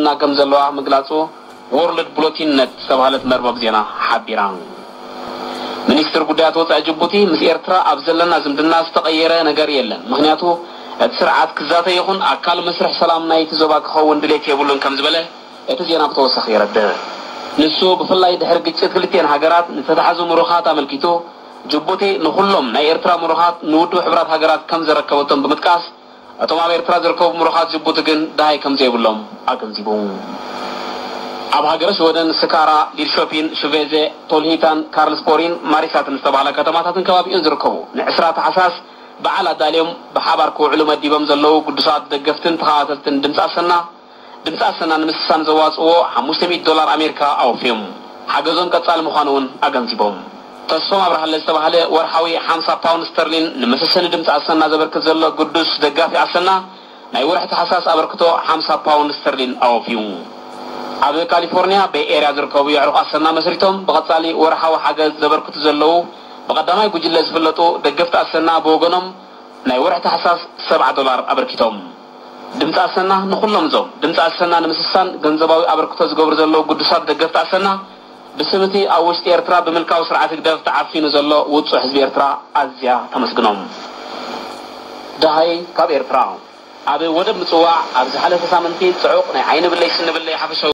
እና ከም ዘለዋ ምግላጹ ወርልድ ብሎቲን ነት ዝተባህለት መርበብ ዜና ሓቢራ። ሚኒስትር ጉዳያት ወጻኢ ጅቡቲ፣ ምስ ኤርትራ ኣብ ዘለና ዝምድና ዝተቐየረ ነገር የለን፣ ምኽንያቱ እቲ ስርዓት ክዛተ ይኹን ኣካል መስርሕ ሰላም ናይቲ ዞባ ክኸውን ድሌት የብሉን ከም ዝበለ እቲ ዜና ብተወሳኺ የረድእ። ንሱ ብፍላይ ድሕሪ ግጭት ክልቲኤን ሃገራት ንተታሕዙ ምሩኻት ኣመልኪቱ፣ ጅቡቲ ንኹሎም ናይ ኤርትራ ምሩኻት ንውድብ ሕቡራት ሃገራት ከም ዘረከበቶም ብምጥቃስ፣ እቶም ኣብ ኤርትራ ዝርከቡ ምሩኻት ጅቡቲ ግን ደሃይ ከም ዘይብሎም ኣገንዚቡ። ኣብ ሃገረ ሽወደን ስካራ፣ ሊድሾፒን፣ ሽቬዘ፣ ቶልሂታን፣ ካርልስፖሪን ማሪሳትን ዝተባህላ ከተማታትን ከባቢኡን ዝርከቡ ንዕስራ ታሕሳስ በዓል ኣዳልዮም ብሓባር ክውዕሉ መዲቦም ዘለዉ ግዱሳት ደገፍትን ተኸታተልትን ድምፂ ኣሰና፣ ድምፂ ኣሰና ንምስሳን ዘዋፅዎ ሓሙሽተ ሚእቲ ዶላር ኣሜሪካ ኣወፍዮም። ሓገዞም ቀፃሊ ምዃኑ እውን ኣገንዚቦም። ተስፎም ኣብርሃለ ዝተባህለ ወርሓዊ ሓምሳ ፓውንድ ስተርሊን ንመሰሰኒ ድምፂ ኣሰና ዘበርክት ዘሎ ግዱስ ደጋፊ ኣሰና ናይ ወርሒ ታሕሳስ ኣበርክቶ ሓምሳ ፓውንድ ስተርሊን ኣወፍዩ። ኣብ ካሊፎርኒያ ቤይ ኤርያ ዝርከቡ የዕሩኽ ኣሰና መስሪቶም ብቐፃሊ ወርሓዊ ሓገዝ ዘበርክቱ ዘለዉ ብቐዳማይ ጉጅለ ዝፍለጡ ደገፍቲ ኣሰና ብወገኖም ናይ ወርሒ ታሕሳስ ሰብዓ ዶላር ኣበርኪቶም። ድምፂ ኣሰና ንኹሎም እዞም ድምፂ ኣሰና ንምስሳን ገንዘባዊ ኣበርክቶ ዝገብሩ ዘለዉ ግዱሳት ደገፍቲ ኣሰና ብስም እቲ ኣብ ውሽጢ ኤርትራ ብምልካዊ ስርዓት ህግደፍ ተዓፊኑ ዘሎ ውጹዕ ህዝቢ ኤርትራ ኣዝያ ተመስግኖም። ደሃይ ካብ ኤርትራ። ኣብ ወደብ ምጽዋዕ ኣብ ዝሓለፈ ሳምንቲ ጽዑቕ ናይ ዓይኒ ብለይ ስኒ ብለይ ሓፈሻዊ